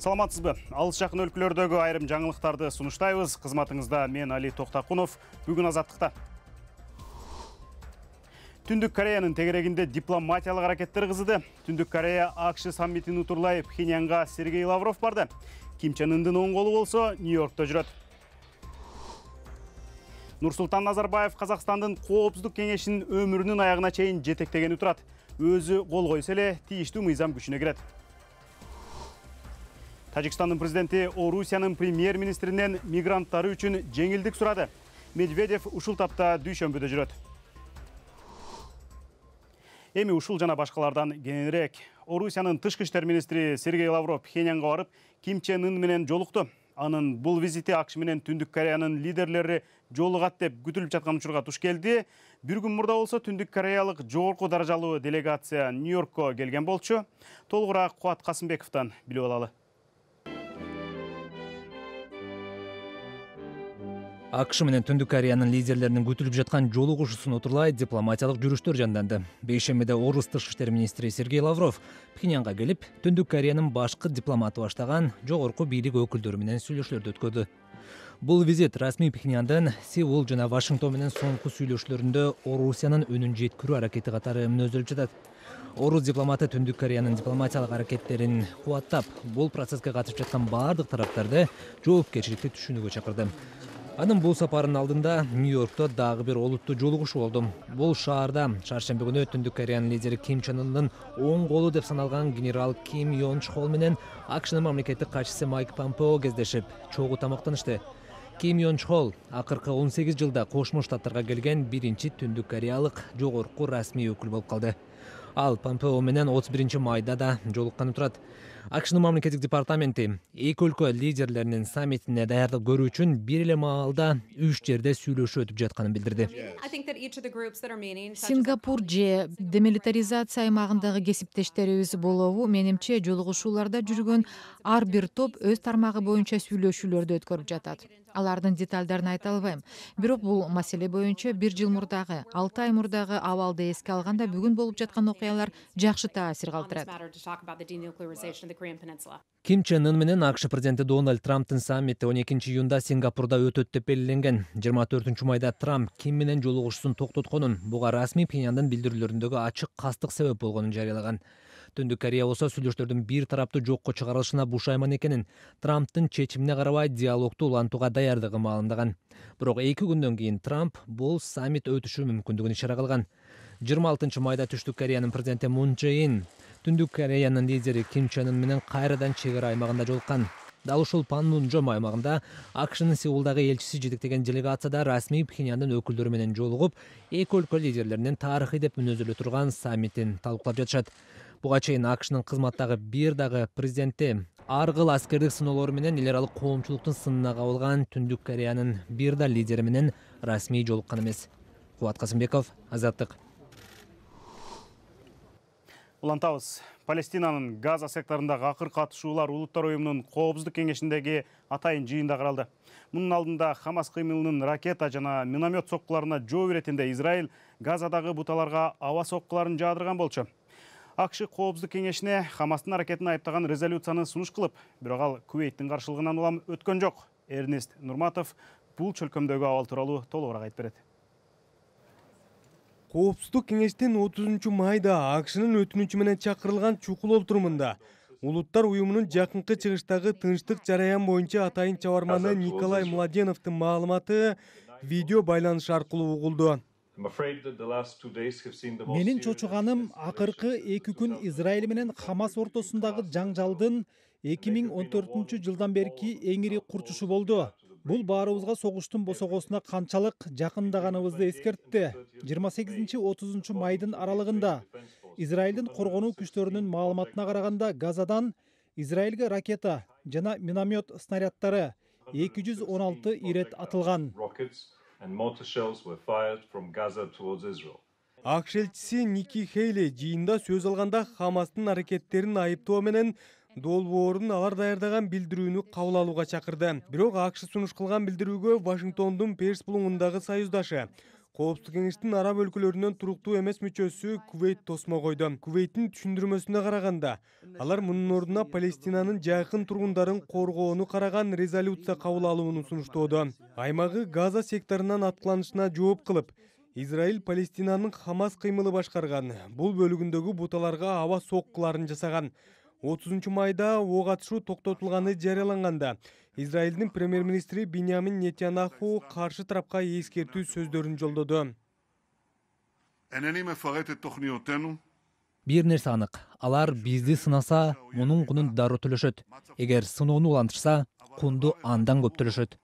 Саламатсызбы? Алыс жакын өлкөлөрдөгү айрым жаңылыктарды сунуштайбыз. Кызматыңызда мен Али Токтакунов. Бүгүн Азаттыкта. Түндүк Кореянын тегерегинде дипломатиялык аракеттер кызыды. Түндүк Корея АКШ саммитин утурлай Пхеньянга Сергей Лавров барды. Ким Чен Ындын оң колу болсо Нью-Йоркто жүрөт. Нурсултан Назарбаев Казакстандын Коопсуздук кеңешинин өмүрүнүн аягына чейин жетектегени турат. Өзү кол койсо эле тийиштүү мыйзам күчүнө кирет. Тажикстандын президенти Орусиянын премьер-министринен мигранттары үчүн жеңилдик сурады. Медведев ушул тапта дүйшөмбүдө жүрөт. Эми ушул жана башкалардан кененирээк. Орусиянын тышкы иштер министри Сергей Лавров Пхеньянга барып, Ким Чен Ын менен жолукту. Анын бул визити АКШ менен Түндүк Кореянын лидерлери жолугат деп күтүлүп жаткан учурга туш келди. Бир күн мурда болсо Түндүк Кореялык жогорку даражалуу делегация Нью-Йоркко келген болчу. Толугураак Кубат Касымбековдон билип алалы. АКШ менен Түндүк Кореянын лидерлеринин күтүлүп жаткан жолугушуусун утурлай дипломатиялык жүрүштөр жанданды. Бейшембиде Орус тышкы иштер министри Сергей Лавров Пхеньянга келип, Түндүк Кореянын башкы дипломаты баштаган жогорку бийлик өкүлдөрү менен сүйлөшүүлөрдү өткөрдү. Бул визит расмий Пхеньяндын Сеул жана Вашингтон менен соңку сүйлөшүүлөрүндө Орусиянын үнүн жеткирүү аракети катары мүнөздөлүп жатат. Орус дипломаты Түндүк Кореянын дипломатиялык аракеттерин кубаттап, бул процесске катышып жаткан бардык тараптарды жоопкерчиликти түшүнүүгө чакырды. Анын бул сапарынын алдында Нью-Йоркто дагы бир олуттуу жолугушуу болду. Бул шаарда шаршемби күнү Түндүк Кореянын лидери Ким Чен Ындын оң колу деп саналган генерал Ким Йон Чхол менен АКШнын мамлекеттик катчысы Майк Помпео кездешип, чогуу тамактанышты. Ким Йон Чхол акыркы 18 жылда Кошмо Штаттарга келген биринчи Түндүк Кореялык жогорку расмий өкүл болуп калды. Ал Помпео менен 31 майда да жолукканы турат. АКШнын мамлекеттик департаменти эки өлкө лидерлеринин саммитине даярдык көрүү үчүн бир эле маалда 3 жерде сүйлөшүү өтүп жатканын билдирди. Сингапур же демилитаризация аймагындагы кесиптештерибиз болобу, менимче жолугушууларда жүргөн ар бир топ өз тармагы боюнча сүйлөшүүлөрдү өткөрүп жатат. Алардын деталдарын айта албайм. Бирок бул маселе боюнча 1 жыл мурдагы, 6 ай мурдагы абалды эске алганда бүгүн болуп жаткан окуялар жакшы таасир калтырат. Ким Чен Ын менен АКШ президенти Дональд Трамптын саммити 12 июнда Сингапурда өтөт деп белгиленген. 24 майда Трамп Ким менен жолугушуусун токтотконун, буга расмий Пхеньяндын билдирүүлөрүндөгү ачык кастык себеп болгонун жарыялаган. Түндүк Корея болсо сүйлөшүүлөрдүн бир тараптуу жокко чыгарылышына бушайман экенин, Трамптын чечимине карабай диалогду улантууга даярдыгын маалымдаган. Бирок 2 күндөн кийин Трамп бул саммит өтүшү мүмкүндүгүн ишара кылган. 26 майда Түштүк Кореянын президенти Мун Чжэ Ин Түндүк Кореянын лидери Ким Чен Ын менен кайрадан чек ара аймагында жолуккан. Дал ушул Панмунжом аймагында АКШнын Сеулдагы элчиси жетектеген делегацияда расмий Пхеньяндын өкүлдөрү менен жолугуп, эки өлкө лидерлеринин тарыхый деп мүнөздөлө турган саммитин талкуулап жатышат. Буга чейин АКШнын кызматтагы бир дагы президенти ар кыл аскердик сыноолору менен эл аралык коомчулуктун сынына кабылган Түндүк Кореянын бир да лидери менен расмий жолуккан эмес. Кубат Касымбеков, Азаттык. Улантабыз. Палестинанын Газа секторундагы акыр катышуулар Улуттар уюмунун Коопсуздук кеңешиндеги атайын жыйында каралды. Мунун алдында Хамас кыймылынын ракета жана миномет соккуларына жооп иретинде Израиль Газадагы буталарга аба соккуларын жаадырган болчу. АКШ Коопсуздук кеңешине Хамастын аракетин айыптаган резолюцияны сунуш кылып, бирок ал Кувейттин каршылыгынан улам өткөн жок. Эрнест Нурматов бул чөлкөмдөгү абал тууралуу толугураак айтып берет. Коопсуздук кеңештин 30 майда АКШнын өтүнүчү менен чакырылган чукул олтурумунда Улуттар уюмунун жакынкы чыгыштагы тынчтык жараян боюнча атайын чабарманы Николай Младеновдун маалыматы видео байланыш аркылуу угулду. Менин чочуганым акыркы 2 күн Израиль менен Хамас ортосундагы жаңжалдын 2014 жылдан берки эң ири курчушу болду. Бул баарыбызга согуштун босогосуна канчалык жакындаганыбызды эскертти. 28-30 майдын аралыгында Израилдин коргонуу күчтөрүнүн маалыматына караганда Газадан Израилге ракета жана миномет снаряддары 216 ирет атылган. АКШ элчиси Ники Хейли жыйында сөз алганда Хамастын аракеттерин айыптоо менен долбоорун алар даярдаган билдирүүнү кабыл алууга чакырды. Бирок АКШ сунуш кылган билдирүүгө Вашингтондун Перс булуңундагы союздашы Коопсуздук кеңештин араб өлкөлөрүнөн туруктуу эмес мүчөсү Кувейт тосмо койду. Кувейттин түшүндүрмөсүнө караганда, алар мунун ордуна Палестинанын жакын тургундарын коргоону караган резолюция кабыл алууну сунуштоодо. Аймагы Газа секторунан аткыланышына жооп кылып, Израиль Палестинанын Хамас кыймылы башкарган бул бөлүгүндөгү буталарга аба соккуларын жасаган. 30 майда ок атышуу токтотулганы жарыяланганда, Израилдин премьер-министри Биньямин Нетаньяху каршы тарапка эскертүү сөздөрүн жолдоду. Бир нерсе анык, алар бизди сынаса, мунун кунун дароо төлөшөт. Эгер сыноону улантышса, кунду андан көп төлөшөт.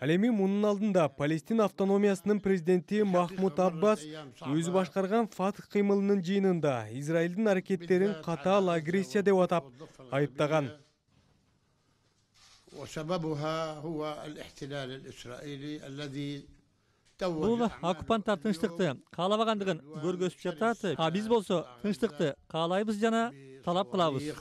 Ал эми мунун алдында Палестин автономиясынын президенти Махмуд Аббас өзү башкарган Фатх кыймылынын жыйынында Израилдин аракеттерин катаал агрессия деп атап айыптаган. Бул оккупанттар тынчтыкты каалабагандыгын көргөзүп жатат. А биз болсо тынчтыкты каалайбыз жана талап кылабыз.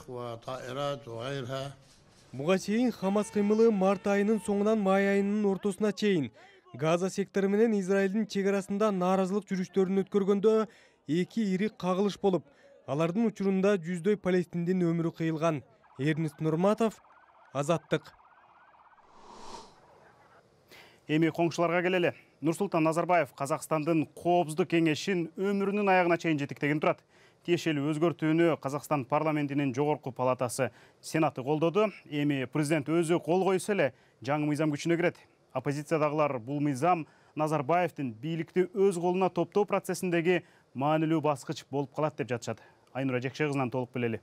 Буга чейин Хамас кыймылы март айынын соңунан май айынын ортосуна чейин Газа сектору менен Израилдин чек арасында нааразылык жүрүштөрүн өткөргөндө эки ири кагылыш болуп, алардын учурунда жүздөй палестиндин өмүрү кыйылган. Эрнест Нурматов, Азаттык. Эми коңшуларга келели. Нурсултан Назарбаев Казакстандын Коопсуздук кеңешин өмүрүнүн аягына чейин жетектеген турат. Тиешелүү өзгөртүүнү Казакстан парламентинин жогорку палатасы Сенаты колдоду. Эми президент өзү кол койсо эле жаңы мыйзам күчүнө кирет. Оппозициядагылар бул мыйзам Назарбаевдин бийликти өз колуна топтоо процессиндеги маанилүү баскыч болуп калат деп жатышат. Айнура Жекше кызынан толук билели.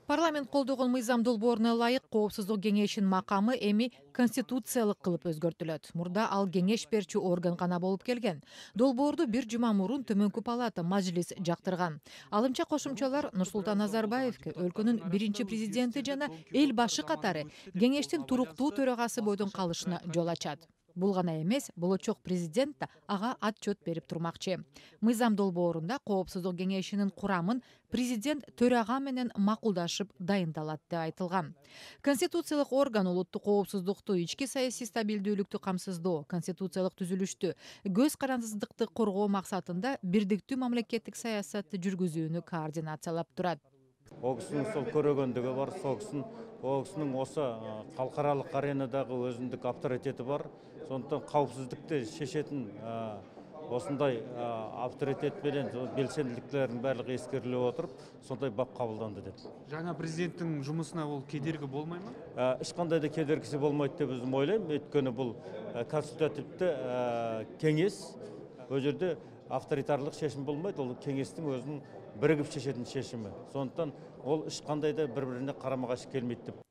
Парламент колдогон мыйзам долбооруна ылайык Коопсуздук кеңешинин макамы эми конституциялык кылып өзгөртүлөт. Мурда ал кеңеш берчү орган гана болуп келген. Долбоорду бир жума мурун Төмөнкү палата Мажлис жактырган. Алымча кошумчалар Нурсултан Назарбаевке өлкөнүн биринчи президенти жана эл башы катары кеңештин туруктуу төрагасы бойдон калышына жол ачат. Бул гана эмес, болочок президент да ага отчет берип турмакчы. Мыйзам долбоорунда Коопсуздук кеңешинин курамын президент төрага менен макулдашып дайындалат деп айтылган. Конституциялык орган улуттук коопсуздукту, ички саясий стабилдүүлүктү камсыздоо, конституциялык түзүлүштү, көз карандысыздыкты коргоо максатында бирдиктүү мамлекеттик саясатты жүргүзүүнү координациялап турат. Ол кісінің сол көрөгөндүгү бар, ол кісінің осы халықаралық аренадагы өзүндүк авторитети бар. Сондықтан қауіпсіздікті шешетін осындай авторитет менен белсенділіктердің барлығы ескерилип отырып, сондай бап кабылданды деп. Жаңа президенттің жұмысына ол кедергі болмай ма? Ешқандай да кедергісі болмайды деп өзім ойлаймын. Өйткені бұл консультативті кеңес, ол жерде авторитарлық шешім болмайды, ол кеңестің өзінің бірігіп шешетін шешімі. Сондықтан ол ешқандай да бір-біріне карама-каршы келмейді деп.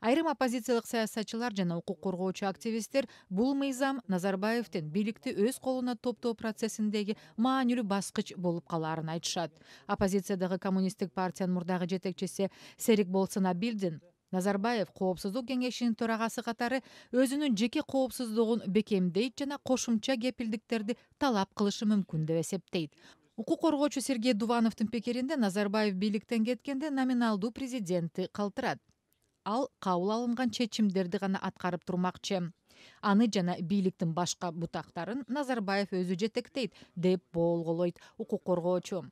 Айрым оппозициялык саясатчылар жана укук коргоочу активисттер бул мыйзам Назарбаевдин бийликти өз колуна топтоо процессиндеги маанилүү баскыч болуп калаарын айтышат. Оппозициядагы коммунисттик партиянын мурдагы жетекчиси Серик Болсонабилдин Назарбаев Коопсуздук кеңешинин төрагасы катары өзүнүн жеке коопсуздугун бекемдейт жана кошумча кепилдиктерди талап кылышы мүмкүн деп эсептейт. Укук коргоочу Сергей Дувановдун пикиринде Назарбаев бийликтен кеткенде номиналдуу президентти калтырат. Ал кабыл алынган чечимдерди гана аткарып турмакчы. Аны жана бийликтин башка бутактарын Назарбаев өзү жетектейт деп болголойт укук коргоочу.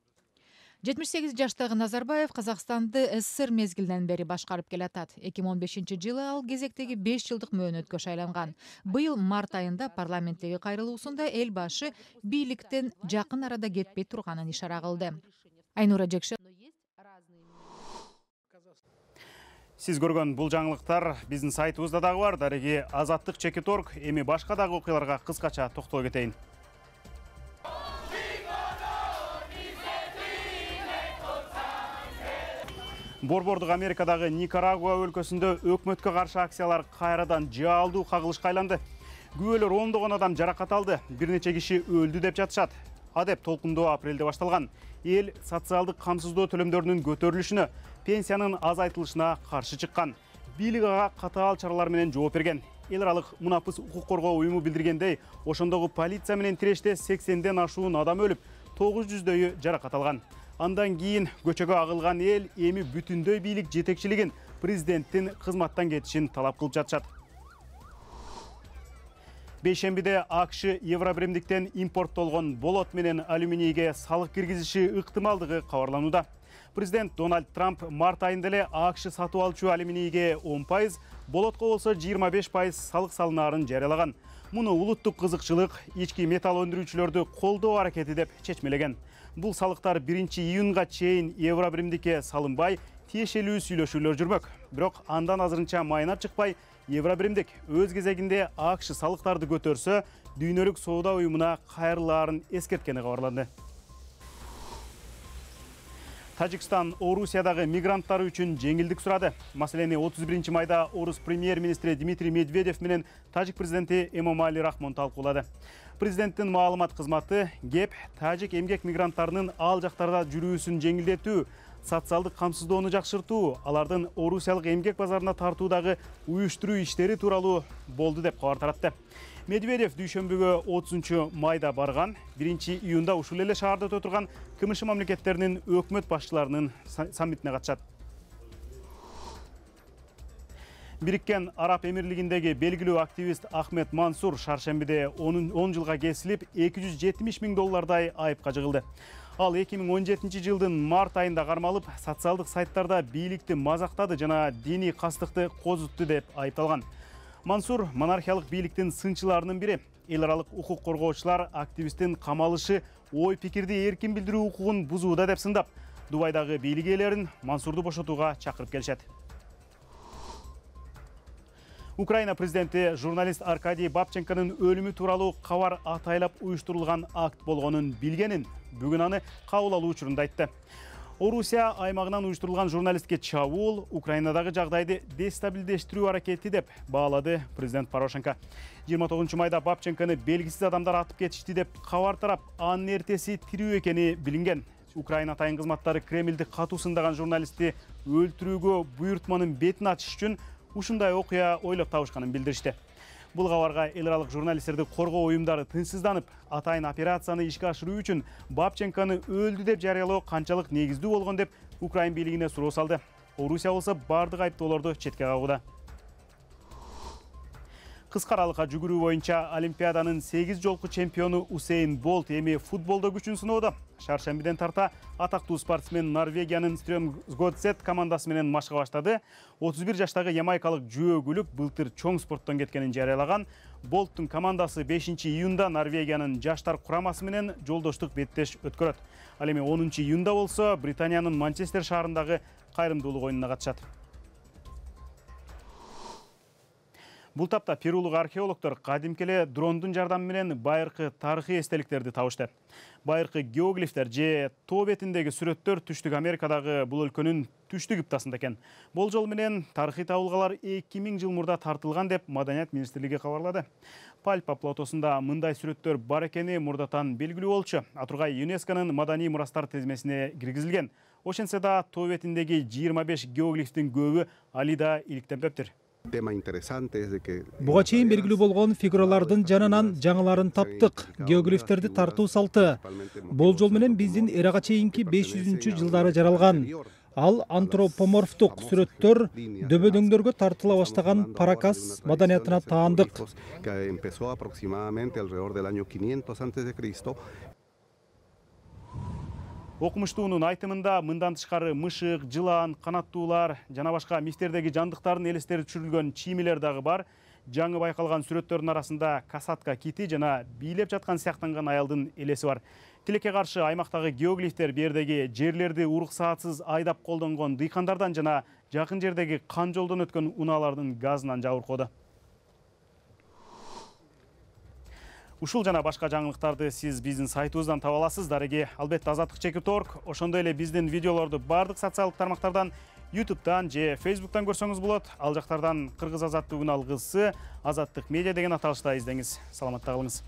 78 жаштагы Назарбаев Казакстанды СССР мезгилинен бери башкарып келатат. 2015-жылы ал кезектеги 5 жылдык мөөнөткө шайланган. Быйыл март айында парламенттеги кайрылуусунда эл башы бийликтен жакын арада кетпей турганын ишара кылды. Айнура Жекше. Сиз көргөн бул жаңылыктар биздин сайтыбызда дагы бар. Дареги Азаттык.org. Эми башка дагы окуяларга кыскача токтоло кетейин. Борбордук Америкадагы Никарагуа өлкөсүндө өкмөткө каршы акциялар кайрадан жаалдуу кагылышка айланды. Күбөлөр ондогон адам жаракат алды, бир нече киши өлдү деп жатышат. Адеп толкундоо апрелде башталган. Эл социалдык камсыздоо төлөмдөрүнүн көтөрүлүшүнө, пенсиянын азайтылышына каршы чыккан. Бийлик ага катаал чаралар менен жооп берген. Эл аралык мунапыс укук коргоо уюму билдиргендей, ошондогу полиция менен тиреште 80ден ашуун адам өлүп, 900дөйү жаракат алган. Андан кийин көчөгө агылган эл эми бүтүндөй бийлик жетекчилигин президенттин кызматтан кетишин талап кылып жатышат. Бейшембиде АКШ Евробиримдиктен импорттолгон болот менен алюминийге салык киргизиши ыктымалдыгы кабарланууда. Президент Дональд Трамп март айында эле АКШ сатып алчу алюминийге 10%, болотко болсо 25% салык салынаарын жарыялаган. Муну улуттук кызыкчылык ички металл өндүрүүчүлөрдү колдоо аракети деп чечмелеген. Бул салыктар 1-июнга чейин Евробиримдикке салынбай, тиешелүү сүйлөшүүлөр жүрмөк. Бирок андан азырынча майнап чыкпай, Евробиримдик өз кезегинде АКШ салыктарды көтөрсө, дүйнөлүк соода уюмуна кайрылаарын эскерткени кабарланды. Тажикстан Орусиядагы мигранттар үчүн жеңилдик сурады. Маселени 31-майда Орус премьер-министри Дмитрий Медведев менен тажик президенти Эмомали Рахмон талкуулады. Президенттин маалымат кызматы ГЕП тажик эмгек мигранттарынын ал жактарда жүрүүсүн жеңилдетүү, социалдык камсыздоону жакшыртуу, алардын орусиялык эмгек базарына тартуудагы уюштуруу иштери тууралуу болду деп кабар таратты. Медведев дүйшөмбүгө 30-майда барган, 1-июнда ушул эле шаарда өтө турган КМШ мамлекеттеринин өкмөт башчыларынын саммитине катышат. Бириккен Араб Эмирлигиндеги белгилүү активист Ахмед Мансур шаршембиде 10 жылга кесилип, $270 000 айыпка жыгылды. Ал 2017 жылдын март айында кармалып, социалдык сайттарда бийликти мазактады жана диний кастыкты козутту деп айыпталган. Мансур монархиялык бийликтин сынчыларынын бири. Эл аралык укук коргоочулар активисттин камалышы ой пикирди эркин билдирүү укугун бузууда деп сындап, Дубайдагы бийлик ээлерин Мансурду бошотууга чакырып келишет. Украина президенти журналист Аркадий Бабченконун өлүмү тууралуу кабар атайлап уюштурулган акт болгонун билгенин, бүгүн аны кабыл алуу учурунда айтты. Орусия аймагынан уюштурулган журналистке чабуул Украинадагы жагдайды дестабилдештирүү аракети деп баалады президент Порошенко. 29-майда Бабченкону белгисиз адамдар атып кетишти деп кабар тарап, анын эртеси тирүү экени билинген. Украина атайын кызматтары Кремлди катуу сындаган журналистти өлтүрүүгө буйртманын бетин ачыш үчүн ушундай окуя ойлоп табышканын билдиришти. Бул кабарга эл аралык журналисттерди коргоо уюмдары тынчсызданып, атайын операцияны ишке ашыруу үчүн Бабченкону өлдү деп жарыялоо канчалык негиздүү болгон деп Украин бийлигине суроо салды. Орусия болсо бардык айыптоолорду четке кагууда. Кыска аралыкка жүгүрүү боюнча Олимпиаданын 8 жолку чемпиону Усейн Болт эми футболдо күчүн сыноодо. Шаршембиден тарта атактуу спортсмен Норвегиянын Strømsgodset командасы менен машка баштады. 31 жаштагы ямайкалык жөөгүлүк былтыр чоң спорттон кеткенин жарыялаган. Болттун командасы 5-июнда Норвегиянын жаштар курамасы менен жолдоштук беттеш өткөрөт. Ал эми 10-июнда болсо Британиянын Манчестер шаарындагы кайрымдуулук оюнуна катышат. Бул тапта перулук археологдор кадимки эле дрондун жардамы менен байыркы тарыхый эстеликтерди табышты. Байыркы геоглифтер же тоо бетиндеги сүрөттөр Түштүк Америкадагы бул өлкөнүн түштүк ыптасында экен. Болжол менен тарыхый табылгалар 2000 жыл мурда тартылган деп Маданият министрлиги кабарлады. Пальпа платосунда мындай сүрөттөр бар экени мурдатан белгилүү болчу. Атургай ЮНЕСКОнун маданий мурастар тизмесине киргизилген. Ошентсе да тоо бетиндеги 25 геоглифтин көбү али да иликтенбептир. Буга чейин белгилүү болгон фигуралардын жанынан жаңыларын таптык. Геоглифтерди тартуу салты болжол менен биздин эрага чейинки 500-жылдары жаралган. Ал антропоморфтук сүрөттөр дөбөдөңдөргө тартыла баштаган Паракас маданиятына таандык. Окумуштуунун айтымында мындан тышкары мышык, жылан, канаттуулар жана башка мифтердеги жандыктардын элестери түшүрүлгөн чиймелер дагы бар. Жаңы байкалган сүрөттөрдүн арасында касатка кити жана бийлеп жаткан сыяктанган аялдын элеси бар. Тилекке каршы аймактагы геоглифтер бердеги жерлерди уруксаатсыз айдап колдонгон дыйкандардан жана жакын жердеги кан жолдон өткөн унаалардын газынан жабыркоодо. Ушул жана башка жаңылыктарды сиз биздин сайтыбыздан таба аласыз. Дареги албетте Азаттык.org. Ошондой эле биздин видеолорду бардык социалдык тармактардан, YouTube'дан же Facebook'тан көрсөңүз болот. Ал жактардан Кыргыз азаттыгынын алгысы Азаттык медиа деген аталышта издеңиз. Саламатта калыңыз.